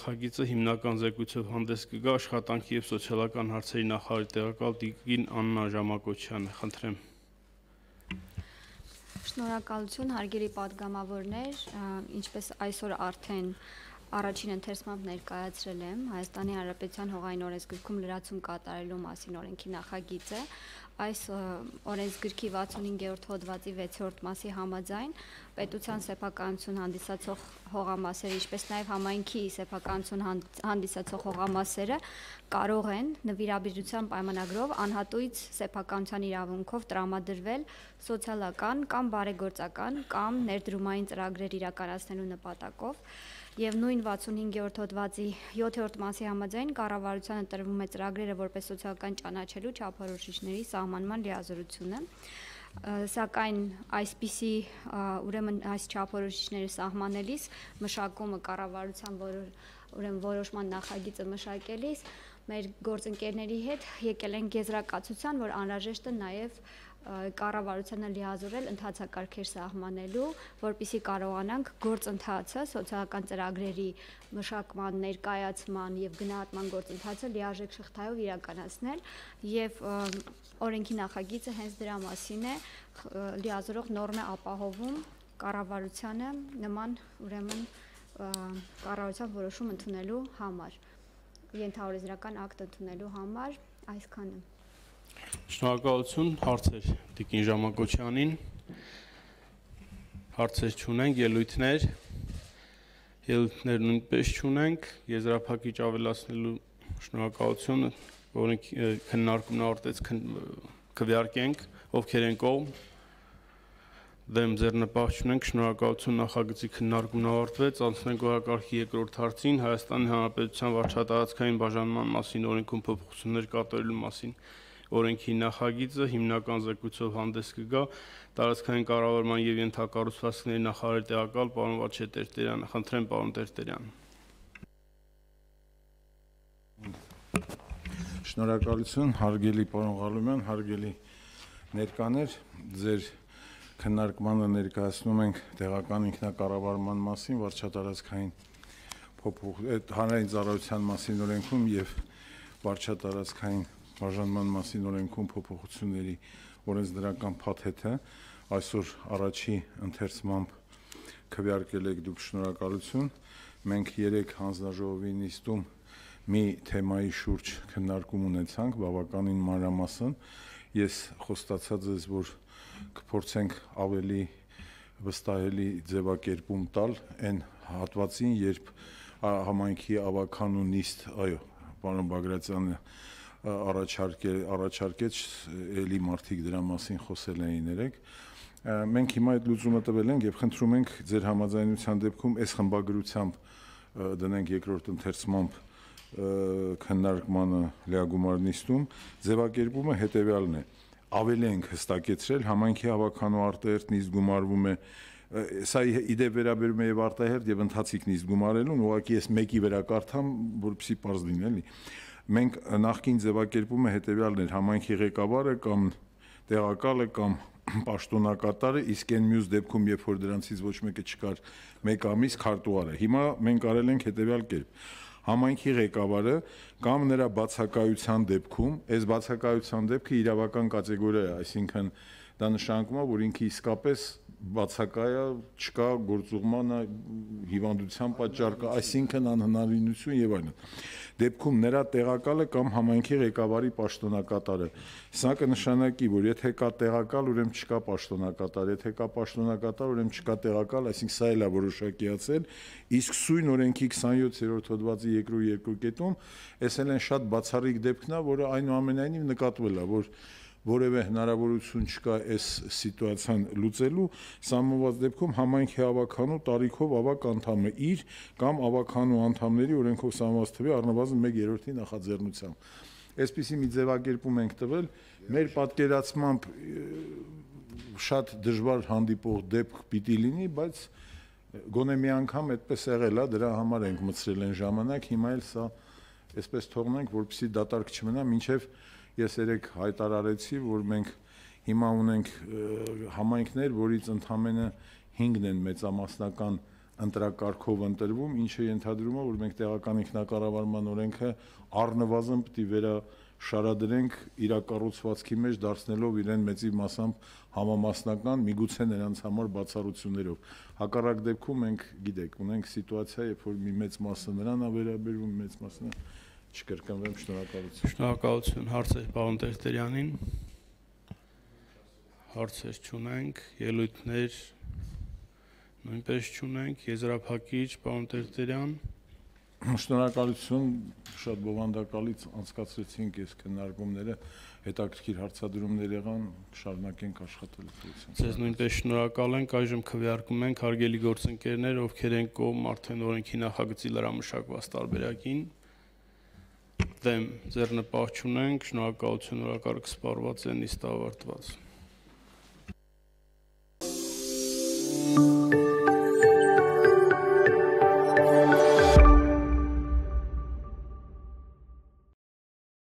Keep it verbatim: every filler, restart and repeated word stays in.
նախագիծը հիմնական զեկույցով հանդես կգա աշխատանքի և սոցիալական հարցերի նախարարի տեղակալ տիկին Աննա Ժամակոչյանը, խնդրեմ։ Շնորհակալություն, հարգելի պատգամավորներ, ինչպես այսօր արդեն առաջին ընթերցմամբ ներկայացրել եմ Հայաստանի Հանրապետության հողային օրենսգրքում լրացում կատարելու մասին օրենքի նախագիծը, այս օրենսգրքի վաթսունհինգերորդ հոդվածի վեցերորդ մասի համաձայն պետության սեփականություն հանդիսացող հողամասերը, ինչպես նաև համայնքի սեփականություն հանդիսացող հողամասերը կարող են նվիրաբերության պայմանագրով անհատույց սեփականության իրավունքով տրամադրվել սոցիալական կամ բարեգործական կամ ներդրումային ծրագրեր իրականացնելու նպատակով և նույն վաթսունհինգերորդ հոդվածի յոթերորդ մասի համաձայն կառավարությանը տրվում է ծրագրերը որպես սոցիալական ճանաչելու չափորոշիչների սահմանման լիազորությունը, սակայն այսպիսի ուրեմն այս չափորոշիչները սահմանելիս մշակումը կառավարության ուրեմն որոշման նախագիծը մշակելիս մեր գործընկերների հետ եկել են եզրակացության, որ անհրաժեշտ է նաև կառավարությանը լիազորել ընթացակարգեր սահմանելու, որպեսզի կարողանանք գործընթացը, սոցիալական ծրագրերի մշակման, ներկայացման և գնահատման գործընթացը լիարժեք շղթայով իրականացնել և օրենքի նախագիծը հենց դրա մասին է, լիազորող նորմ է ապահովում կառավարությանը նման ուրեմն կառավարության որոշում ընդունելու համար, ենթաօրենսդրական ակտ ընդունելու համար, այսքանը։ Շնորհակալություն, հարցեր տիկին Ժամակոչյանին, հարցեր չունենք, ելույթներ, ելույթներ նույնպես չունենք, եզրափակիչ ավելացնելու շնորհակալություն, օրենքի քննարկումն ավարտեց, քվեարկենք, ովքեր են կողմ, դեմ ձեռնպահ չունենք, շնորհակալություն, նախագծի քննարկումն ավարտվեց, անցնենք օրակարգի երկրորդ հարցին, Հայաստանի Հանրապետության վարչատարածքային բաժանման մասին օրենքում փոփոխություններ կատարելու մասին օրենքի նախագիծը հիմնական զեկույցով հանդես կգա տարածքային կառավարման և ենթակառուցվածքների նախարարի տեղակալ պարոն Վաչե Տերտերյանը, խնդրեմ պարոն Տերտերյան։ Շնորհակալություն, հարգելի պարոն Ղալումյան, հարգելի ներկաներ, ձեր քննարկմանը ներկայացնում ենք տեղական ինքնակառավարման մասին, վարչատարածքային հանրային ծառայության մասին օրենքում և վարչատարածքային բաժանման մասին օրենքում փոփոխությունների օրենսդրական փաթեթը այսօր առաջի ընթերցմամբ քվեարկել եք դուք, շնորհակալություն։ Մենք երեք հանձնաժողովի նիստում մի թեմայի շուրջ քննարկում ունեցանք, բավականին մանրամասն։ Ես խոստացած ես, որ կփորձենք ավելի վստահելի ձևակերպում տալ այն հատվածին, երբ համայնքի ավականու նիստ, այո, պարոն Բագրատյանը առաջարկեց, էլի մարդիկ դրա մասին խոսել էին երեկ։ Մենք հիմա այդ լուծումը տվել ենք և խնդրում ենք ձեր համաձայնության դեպքում այս խմբագրությամբ դնենք երկրորդ ընթերցմամբ քննարկմանը լիագումար նիստում, ձևակերպումը հետևյալն է, ավելի ենք հստակեցրել, համայնքի ավականու արտահերթ նիստ գումարվում է, սա իդեպ վերաբերում է և արտահերթ և ընթացիկ նիստ գումարելուն, ուղղակի ես մեկի վրա կարդամ, որպեսզի պարզ լինի, էլի։ Մենք նախկին ձևակերպումը հետևյալն էր, համայնքի ղեկավարը կամ տեղակալը կամ պաշտոնակատարը, իսկ այն մյուս դեպքում, երբ որ դրանցից ոչ մեկը չկար, մեկ ամիս քարտուղարը։ Հիմա մենք արել ենք հետևյալ կերպ, համայնքի ղեկավարը կամ նրա բացակայության դեպքում, այս բացակայության դեպքը իրավական կատեգորիա է, այսինքն դա նշանակում է, որ ինքը իսկապես բացակայ է, չկա գործուղման հիվանդության պատճառ կա, այսինքն անհնարինություն եւ այլն։ Դեպքում նրա տեղակալը կամ համայնքի ղեկավարի պաշտոնակատարը։ Սա կնշանակի, որ եթե կա տեղակալ, ուրեմն չկա պաշտոնակատար, եթե կա պաշտոնակատար, ուրեմն չկա տեղակալ, այսինքն սա էլ է որոշակիացել, իսկ սույն օրենքի քսանյոթերորդ հոդվածի երկրորդ երկու կետում էս էլ են շատ բացառիկ դեպքն է, որը այնուամենայնիվ նկատվել է, որ որևէ հնարավորություն չկա այս սիտուացիան լուծելու, սահմանված դեպքում համայնքի ավականու տարիքով ավակ անդամը իր կամ ավականու անդամների օրենքով սահմանված թվի առնվազն մեկ երրորդի նախաձեռնությամբ։ Այսպիսի մի ձևակերպում ենք տվել, մեր պատկերացմամբ շատ դժվար հանդիպող դեպք պիտի լինի, բայց գոնե մի անգամ այդպես եղել է, դրա համար ենք մտցրել այն ժամանակ, հիմա էլ սա այսպես թողնենք, որպեսզի դատարկ չմնա, մինչև ես երեք հայտարարեցի, որ մենք հիմա ունենք համայնքներ, որից ընդամենը հինգն են մեծամասնական ընտրակարգով ընտրվում, ինչը ենթադրում է, որ մենք տեղական ինքնակառավարման օրենքը առնվազն պետք է վերաշարադրենք իր կառուցվածքի մեջ, դարձնելով իրեն մեծի մասամբ համամասնական, միգուցե նրանց համար բացառություններով։ Հակառակ դեպքում մենք գիտեք, ունենք սիտուացիա, երբ որ մի մեծ մասը նրան է վերաբերվում, մեծ մասը չկրկնվեմ, շնորհակալություն։ Շնորհակալություն, հարցեր պարոն Տերտերյանին։ Հարցեր չունենք, ելույթներ նույնպես չունենք, եզրափակիչ պարոն Տերտերյան։ Շնորհակալություն, շատ բովանդակալից անցկացրեցինք այս քննարկումները, հետաքրքիր հարցադրումներ եղան, կշարունակենք աշխատել դրությամբ։ Ձեզ նույնպես շնորհակալ ենք, այժմ քվեարկում ենք հարգելի գործընկերներ, ովքեր են կողմ արդեն օրենքի նախագծի լրամշակված տարբերակին։ Դեմ ձեռնպահ չունենք, շնորհակալություն, օրակարգ սպառված է, նիստ ավարտված։